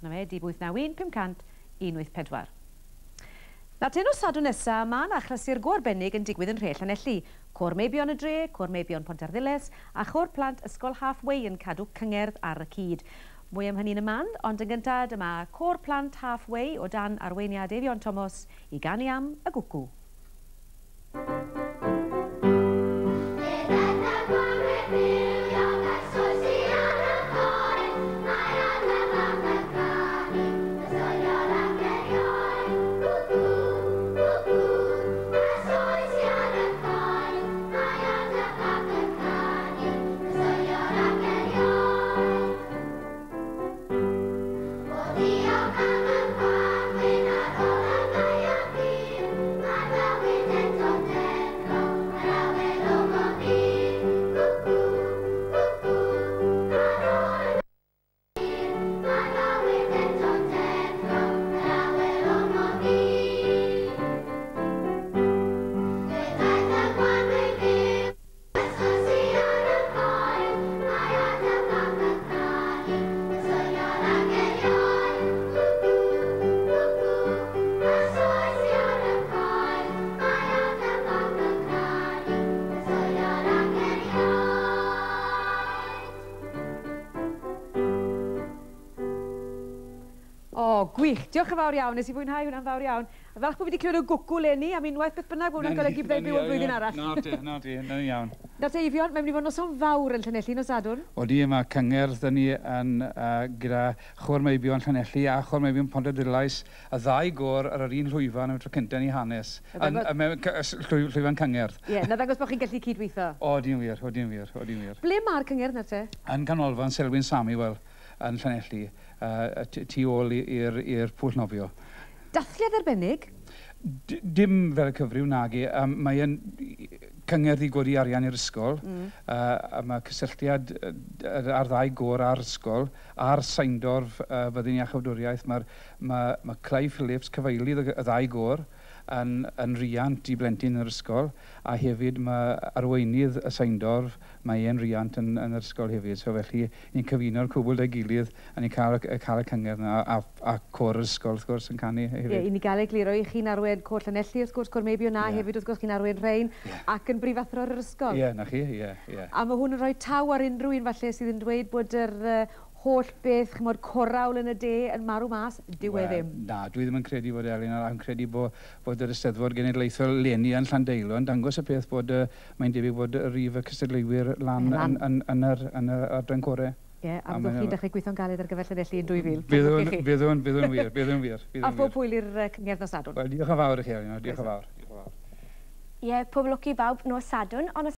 Na fe, 0 8 9 1 500 184. Na te nos Sadwrn nesa, mae 'na achlysur go arbennig yn digwydd yn nhre Llanelli. Côr Meibion y dre, Côr Meibion Pontarddulais a Chôr Plant Ysgol Halfway yn cadw cyngerdd ar y cyd. Mwy am hynny yn y man, ond yn gyntaf dyma Côr Plant Halfway o dan arweiniad Eifion Thomas i ganu am y gwcw. O, gwych. Diolch yn fawr iawn. Nes i fwynhau hwnna'n fawr iawn. A falch bod fi wedi clywed o gwcw leni am unwaith beth bynnag bod hwnna'n golygu byddai'n byw yn flwyddyn arall. Na ti, na ti, na'n iawn. Nawr te Eifion, mae'n mynd i fod noson fawr yn Llanelli nos Sadwrn. Odi, mae cyngerdd 'da ni yn gyda Chôr Meibion Llanelli a Chôr Meibion Pontarddulais, y ddau gôr ar yr un llwyfan am y tro cyntaf yn eu hanes. Yn, mewn llwyfan cyngerdd. Ie, na ddangos bod chi'n gallu cydweithio. Odi'n wir, odi'n wir, odi'n wir. Ble mae'r cyngerdd nawr te? Yn Canolfan Selwyn Samuel yn Llanelli, tu ôl i'r pwll nofio. Dathliad arbennig? Dim fel y cyfryw, nage. Mae e'n cyngerdd i godi arian i'r ysgol. A mae cysylltiad ar ddau gôr a'r ysgol, a'r Seindorf Fyddin Iachawdwriaeth. Mae'r, mae Clive Phillips, cyfeilydd y ddau gôr, yn riant i blentyn yn yr ysgol, a hefyd mae arweinydd y Seindorf, mae e'n riant yn yr ysgol hefyd. So felly, ni'n cyfuno'r cwbl 'da'i gilydd, a ni'n cael y cyngerdd yna, a côr yr ysgol, wrth gwrs, yn canu hefyd. Ie, i ni gael egluro i chi'n arwain côr Llanelli, wrth gwrs, Côr Meibion, a hefyd, wrth gwrs, chi'n arwain rhein, ac yn brifathro ar yr ysgol. Ie, na chi, ie. A mae hwn yn rhoi taw ar unrhyw un falle sydd yn dweud bod yr holl beth, chimod, corawl yn y de yn marw mas, dyw e ddim. Na, dwi ddim yn credu bod Elin, a yn credu bod yr Eisteddfod Genedlaethol leni yn Llandeilo yn dangos y peth bod mae'n debyg bod y rif y cystadleuwyr lan yn yr adran core. Ie, a byddwch chi'n dechrau gweithio'n galed ar gyfer Llanelli yn 2000. Byddwn, byddwn wir, byddwn wir. A phob hwyl i'r cyngerdd nos Sadwrn. Wel, diolch yn fawr i chi, Elin, diolch yn fawr. Ie, pob lwc i bawb nos Sadwrn, ond